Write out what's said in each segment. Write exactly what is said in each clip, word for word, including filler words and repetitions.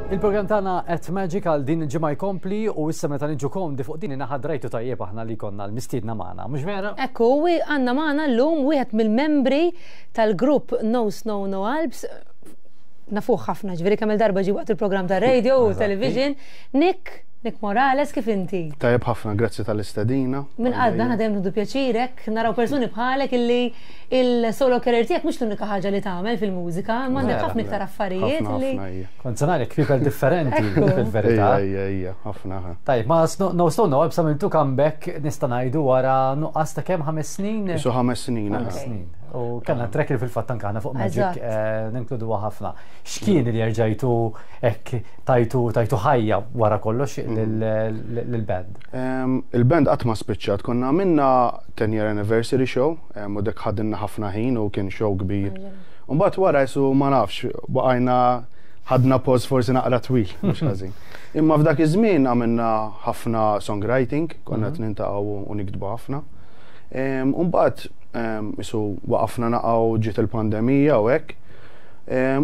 Il-program tagħna at Magic għal din il-ġimgħa jkompli u issa meta niġu komdi fuq din in-naħa drajtu tajjeb aħna li konna l-mistiedna magħna, mhux vera? Ekku, għandna magħna llum wieħed mill-membri tal-grupp No Snow No Alps, nafuh ħafna, ġifieri kemm il-darba ġi waqt il-programm ta' radio u television. Nick, Nick Morales, kif inti? Tajjeb ħafna, grazzi tal-istedina. Minn għadna ħna dejjem nieħdu pjaċirek, naraw persuni bħalek illi il-solo career tiegħek mhux l-unika ħaġa li tagħmel fil-mużika, ma għandek ħafna iktar affarijiet li. Kont se ngħidlek people differenti fil-verità. Ija, ija, ħafna. Tajjeb, ma No Snow No Alps għamiltu comeback, nista' ngħidu, wara nuqqas ta' kemm, ħames snin? Isu ħames snin. Ħames snin. U kellna track li fil-fatt anke fuq Magic eh, ninkluduha ħafna. X'kien li jerġajtu hekk tajtu tajtu ħajja wara kollox lill-band? Il-band qatt ma spiċċat, konna għamilna ten year anniversary show, u dak ħadinna ħafna ħin u kien show kbir. Mbagħad wara jisu ma nafx, baqajna ħadna pause forsi naqra twil, mhux ħażin. Imma f'dak iż-żmien għamilna ħafna songwriting, konna qed niltaqgħu u niktbu ħafna. Mbagħad isu waqafna naqgħu, ġiet il-pandemija u hekk.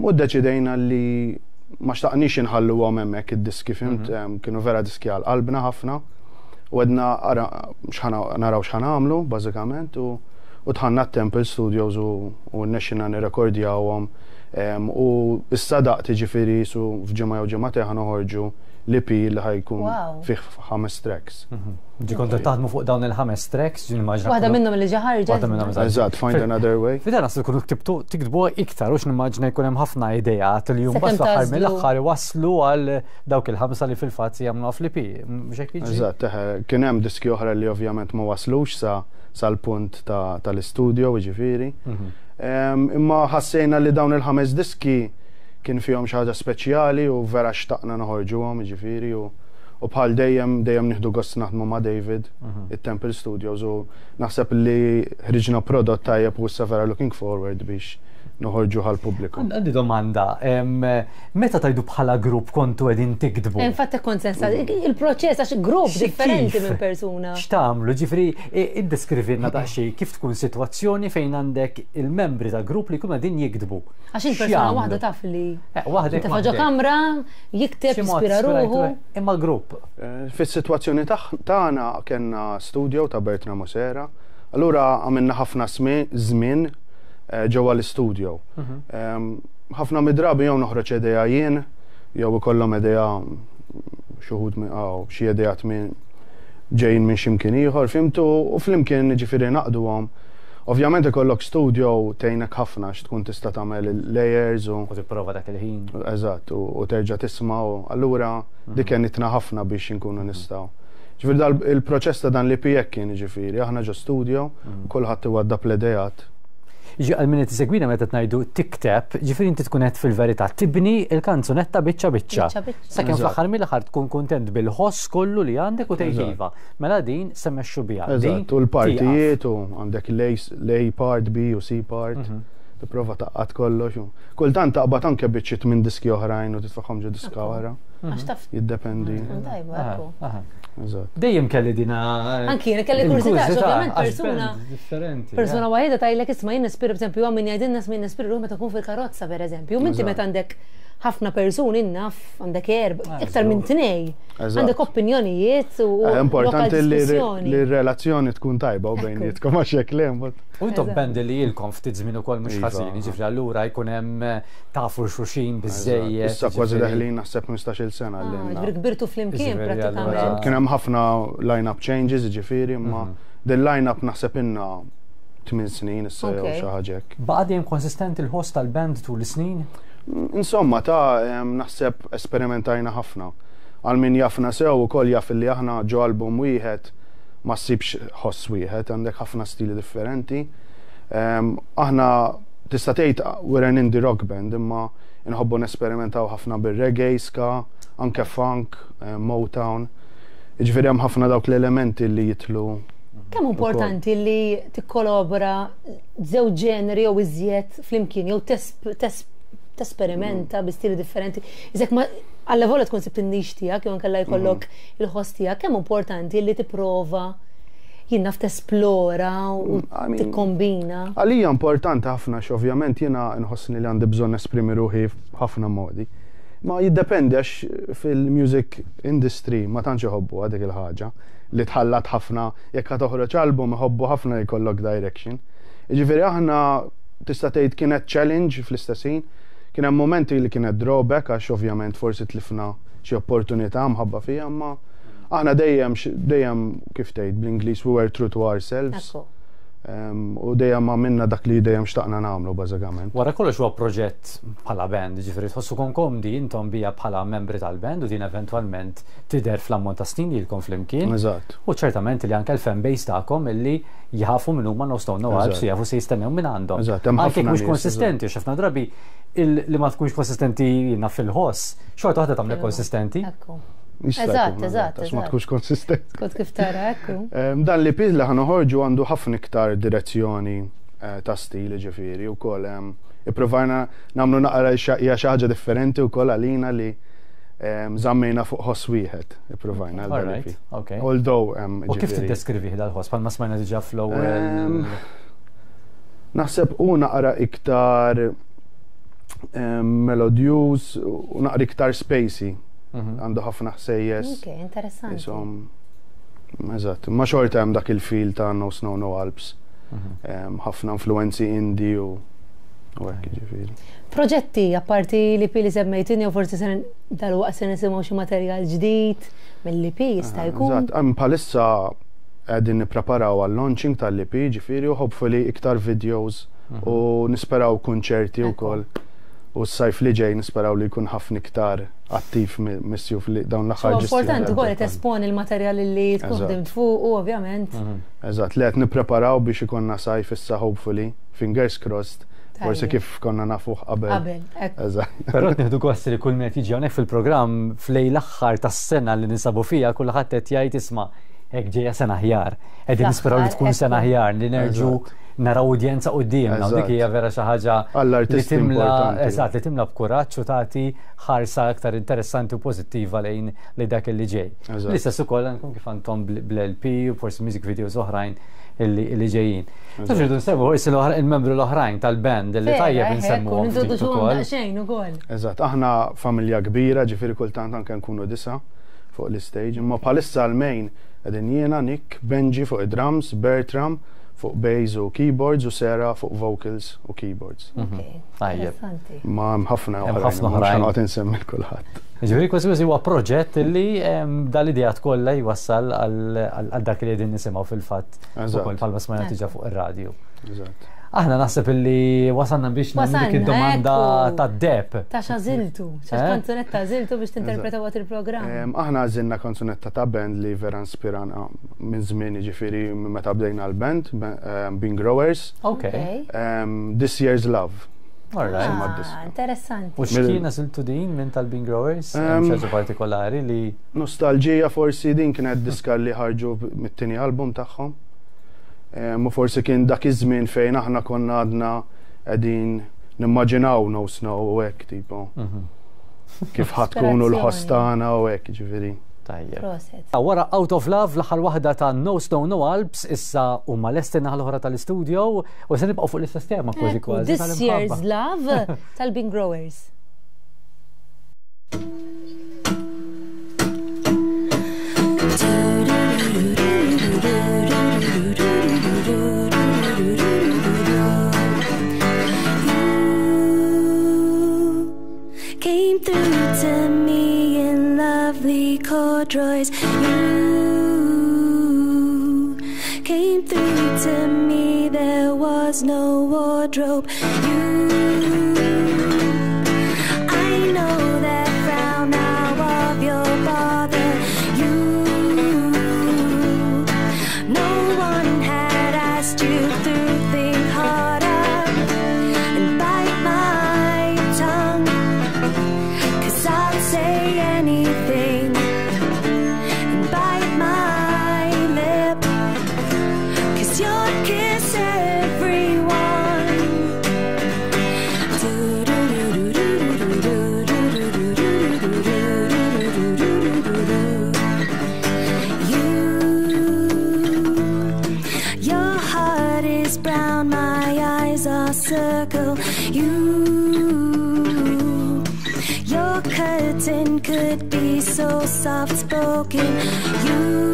U ddeċidejna li ma xtaqniex inħallu għom hemmhekk id-diski, fhimt, mhm. kienu vera diski għal qalbna ħafna. U għedna naraw x'ħa nagħmlu, bażikament, u dħalna Temple Studios u rnexxielna nirrekordjawhom. U issa daqt, ġifieri su f'ġimgħa jew ġimgħatejn ħa noħorġu l-E P li ħa jkun fih ħames tracks. Mhm. Ġi kontu taħdmu fuq dawn il-ħames tracks, ġi nimmaġina. Waħda minnhom li ġa ħarġet. Waħda minnhom. Eżatt, Find Another Way. Fida nasu tkunu ktibtu tiktbu iktar u x'nimmaġina jkun hemm ħafna idejat li jum bas fl-aħħar mill-aħħar waslu għal dawk il-ħamsa li fil-fatt jagħmlu fl-E P. Mhux hekk jiġri? Eżatt, kien hemm diski oħra li ovvjament ma waslux sa sal-punt tal-istudio, ġifieri. Mhm. Imma ħassejna li dawn il-ħames diski kien fihom xi ħaġa speċjali u vera xtaqna noħorġuhom, ġifieri, u u bħal dejjem dejjem nieħdu gost naħdmu ma' David, it-Temple Studios, u naħseb li ħriġna prodott tajjeb u issa vera looking forward biex noħorġu għal pubbliku. Għandi domanda, em, meta tajdu bħala grupp kontu qegħdin tiktbu? Infatti kont sensa, il-proċess, għax grupp Xi differenti kif? minn persuna. X'tagħmlu? Ġifieri iddeskrivilna daqsxejn kif tkun sitwazzjoni fejn għandek il-membri ta' grupp li jkunu qegħdin jiktbu. Għax il-persuna X'jagħmlu? waħda taf li Eh, waħdek Tefa' ġo waħdek. kamra, jikteb, Xi mod jispira ruħu. ispirajtu- Imma grupp. Eh, Fis-sitwazzjoni taħ- tagħna kellna studio ta' Bertrand Mosera, allura għamilna ħafna smi- żmien eh, ġewwa l-studio. Em, Ħafna mid-drabi jew noħroġ idea jien, jew ikollhom idea xi wħud minn aw xi ideat minn ġejjin minn x'imkien ieħor, fhimtu, u flimkien ġifieri naqduhom. Ovvjament ikollok studio tgħinek ħafna għax tkun tista' tagħmel il-layers u U tipprova dak il-ħin. Eżatt, u, u terġa' tisma' u allura dik għenitna ħafna biex inkunu nistgħu. Ġifieri dal il-proċess ta' dan l-E P hekk kien, ġifieri, aħna ġo studio, kulħadd iwaddab l-idejat. Ġi għal min qed isegwina, meta tgħidu tikteb, ġifieri inti tkun qed fil-verità tibni il-kanzunetta biċċa biċċa. Biċċa biċċa. Sakemm Eżatt. fl-aħħar mill-aħħar tkun kuntent bil-ħoss kollu li għandek u tgħid Eżatt. iva. Mela din se mmexxu biha. Din Eżatt, u l-partijiet u għandek l-A part, B u C part, tipprova tgħaqqad kollox. u kultant taqbad anke biċċiet minn diski oħrajn u titfagħhom ġo diska oħra. Għax taf. Jiddependi. Tkun tajba, Aha, ekku. aha. Eżatt. Dejjem kelli dina. Anki jiena kelli kurżità, il-kurżità, ovvjament għax persuna- band differenti. Persuna waħda tgħidlek, isma', jien nispira, per eżempju, min jgħidilna isma', jien nispira ruħi meta kun fil-karozza, per eżempju. Minti Eżatt. meta għandek ħafna persuni, naf, għandek erb, Ah, iktar minn żgur. tnej. Eżatt. Għandek opinjonijiet u Eh, Importanti lokal li diskussjoni. li r-relazzjoni tkun tajba u Ekku. bejnietkom, għax jekk le mbagħad. U intom Eżatt. band li ilkom ftit żmien ukoll mhux Iva. ħażin, ġifieri allura jkun hemm eh, tafu xulxin biżejjed. Issa kważi ġifieri- deħlin naħseb ħmistax-il sena Ah, li għandna. Ġifieri kbirtu flimkien Ġifieri, prattikament. allura- Kien hemm ħafna line-up changes, ġifieri, imma din line-up naħseb ilna tmien snin issa jew Ok. xi ħaġa hekk. Baqa' dejjem konsistenti l-ħoss tal-band tul is-snin? Insomma, ta' em, naħseb esperimentajna ħafna. Għal min jafna sew ukoll jaf li aħna ġo album wieħed ma ssibx ħoss wieħed, għandek ħafna stili differenti. Em, Aħna tista' tgħid we're an indie rock band, imma inħobbu nesperimentaw ħafna bir-reggae, ska, anke funk, eh, Motown. Jiġifieri hemm ħafna dawk l-elementi li jitlu. Kemm importanti li tikkolabora żewġ ġeneri jew iżjed flimkien jew tesperimenta bi stili differenti? Iżek ma alla volja tkun sibt in-niche tiegħek jew inkella jkollok il-ħoss tiegħek, kemm importanti li tipprova, jien naf, tesplora u I mean, tikkombina? Għalija importanti ħafna, x'ovvjament jiena nħossni li għandi bżonn esprimi ruħi f'ħafna modi. Ma jiddependi, għax fil-music industry ma tantx iħobbu dik il-ħaġa li tħallat ħafna. Jekk ħa toħroġ album, iħobbu ħafna jkollok direction. Jiġifieri aħna tista' tgħid kienet challenge. Fl-istess ħin kien hemm momenti li kienet drawback, għax ovvjament forsi tlifna xi opportunità mħabba fija, imma aħna dejjem dejjem, kif tgħid bl-Ingliż, we were true to ourselves. Ekku. Um, u dejjem għamilna dak li dejjem xtaqna nagħmlu, bażikament. Wara kollox huwa proġett bħala band, ġifieri tħossukom komdi intom bija bħala membri tal-band u din eventwalment tidher fl-ammont ta' snin lilkom flimkien. Eżatt. U ċertament li anke l-fan base tagħkom illi jafu minn huma No Snow No Alps, Eżatt. jafu se jistennew minn għandhom. Eżatt, hemm Anke ħafna mhux nies. konsistenti, għax ħafna drabi il- li ma tkunx konsistenti jiena fil-ħoss, xorta waħda tagħmel konsistenti. Ekku. Jista' Eżatt, jkun, eżatt, għax ma eżatt. tkunx konsistenti. Skont kif tara, ekku. Em, Dan l-E P li ħa noħorġu għandu ħafna iktar direzzjoni eh, ta' stil, ġifieri, u koll. Ippruvajna nagħmlu naqra xa- hija xi ħaġa differenti u koll għalina li em, żammejna fuq ħoss wieħed, ippruvajna għal dan Alright, l-E P. okay. Although, em, U kif ġifieri, tiddeskrivi dal-ħoss bħalma smajna diġà fl-ewwel? Em, Naħseb u naqra iktar em, melodious u naqra iktar spacey. Mhm. Għandu ħafna ħsejjes. Ok, interessanti. Isom, eżatt, ma xorta hemm dak il-feel ta' No Snow No Alps. Mhm. Em, ħafna influenzi indie u u hekk, ġifieri. Proġetti, apparti l-E P li semmejtini, u forsi se dal-waqt se nisimgħu xi materjal ġdid mill-E P, jista' jkun. Eżatt, hemm bħalissa qegħdin nippreparaw għal-launching tal-E P, ġifieri, u hopefully iktar videos u nisperaw konċerti Ekku. wkoll. U s-sajf li ġej nisperaw li jkun ħafna iktar attiv mi- mis-sjuf li dawn l-aħħar Huwa ġistijin. importanti ukoll li tesponi il-materjal li tkun Eżatt. ħdimt fuq u ovvjament. Mhm. Eżatt, li qed nippreparaw biex ikollna sajf issa, hopefully, fingers crossed, forsi Tajjeb. kif konna nafuh qabel. Qabel, ekku. Eżatt. Però qed nieħdu gost li kull min qed jiġi hawnhekk fil-programm f'lejl l-aħħar tas-sena li ninsabu fija, kulħadd qed jgħid, "Isma', hekk ġejja sena aħjar." Qegħdin nisperaw li tkun Fl-aħħar, sena ekku. aħjar, li nerġu Eżatt. naraw udjenza quddiemna, u dik Eżatt. hija vera xi ħaġa li Għall-artisti timla importanti. Eżatt, li timla b'kuraġġ u tagħti ħarsa aktar interessanti u pożittiva lejn li dak li ġej. Eżatt. L-istess ukoll għandkom kif għandhom bl-L P u forsi music videos oħrajn illi illi ġejjin. Taf irridu nsemmu forsi l-oħra- il-membru l-oħrajn tal-band illi tajjeb insemmu Nintroduċuhom daqsxejn ukoll. Eżatt, aħna familja kbira, ġifieri kultant anke nkunu disa fuq l-stage, imma bħalissa l-main qegħdin jiena, Nick, Benji fuq id-drums, Bertram fuq bass u keyboards u Sarah fuq vocals u keyboards. Ok, Tajjeb. interessanti. Ma hemm ħafna Hemm oħrajn, ħafna mhux oħrajn. ħa noqgħod insemmi lil kulħadd. Ġifieri kważi kważi huwa proġett illi em, dal-ideat kollha jwassal għal għal dak li qegħdin nisimgħu fil-fatt Eżatt. ukoll bħalma smajna diġà fuq ir-radju. Eżatt. Aħna naħseb illi wasalna biex nagħmlu dik Wasalna, id-domanda ekku. tad-deheb. Ta' x'għażiltu, x'għax Eh? kanzunetta għażiltu biex tinterpreta waqt il-programm. Em, Aħna għażilna kanzunetta ta' band li vera inspirana minn żmien, ġifieri minn meta bdejna l-band, em, Bean Growers, Ok, em, This Year's Love. All right. Insomma, Ah, d-diska. interessanti. U x'kien għażiltu din minn tal-Bean Growers? Hemm Em, xi ħaġa partikolari li Nostalġija forsi. Din kienet diska li ħarġu mit-tieni album tagħhom. Em, U forsi kien dak iż-żmien fejn aħna konna għadna qegħdin nimmaġinaw No Snow u hekk, tipo Mhm. kif ħa tkunu l-ħoss Ispirazzjoni. tagħna u hekk, ġifieri. Tajjeb. Proset. Wara Out of Love, l-aħħar waħda ta' No Snow No Alps, issa huma lesti naħa l-oħra tal-istudio u se nibqgħu fuq l-istess tema kważi Ekku, kważi. This tal-imħabba. Year's Love tal-Bean Growers. You came through to me in lovely corduroys. You came through to me, there was no wardrobe. You, I know that frown now of your father. You, no one had asked you to think harder and bite my tongue. 'Cause I'd say anything and bite my lip. 'Cause you'd kiss everyone. skeleton could be so soft spoken. You,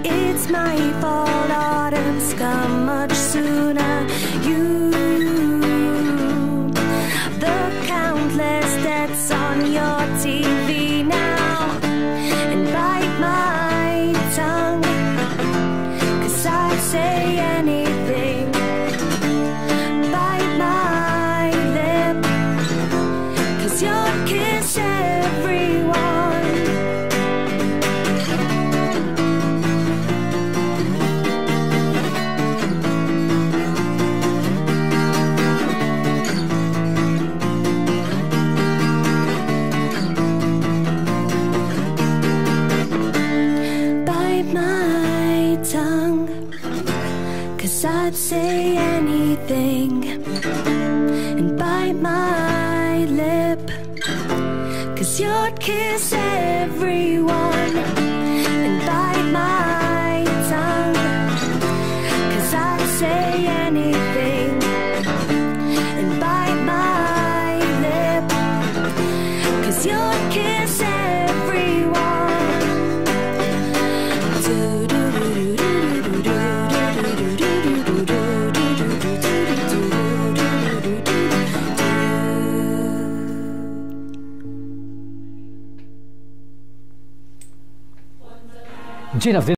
it's my fault, autumn's come much sooner. You, the countless deaths on your T V now, and bite my tongue, 'cause I'd say anything. Bite my lip, 'cause you'd kiss everyone. Bite my tongue, 'cause I'd say anything. And bite my lip, 'cause you'd kiss everyone. And bite my tongue, 'cause I'd say anything. And bite my lip, 'cause you'd kiss everyone. Ġina f'din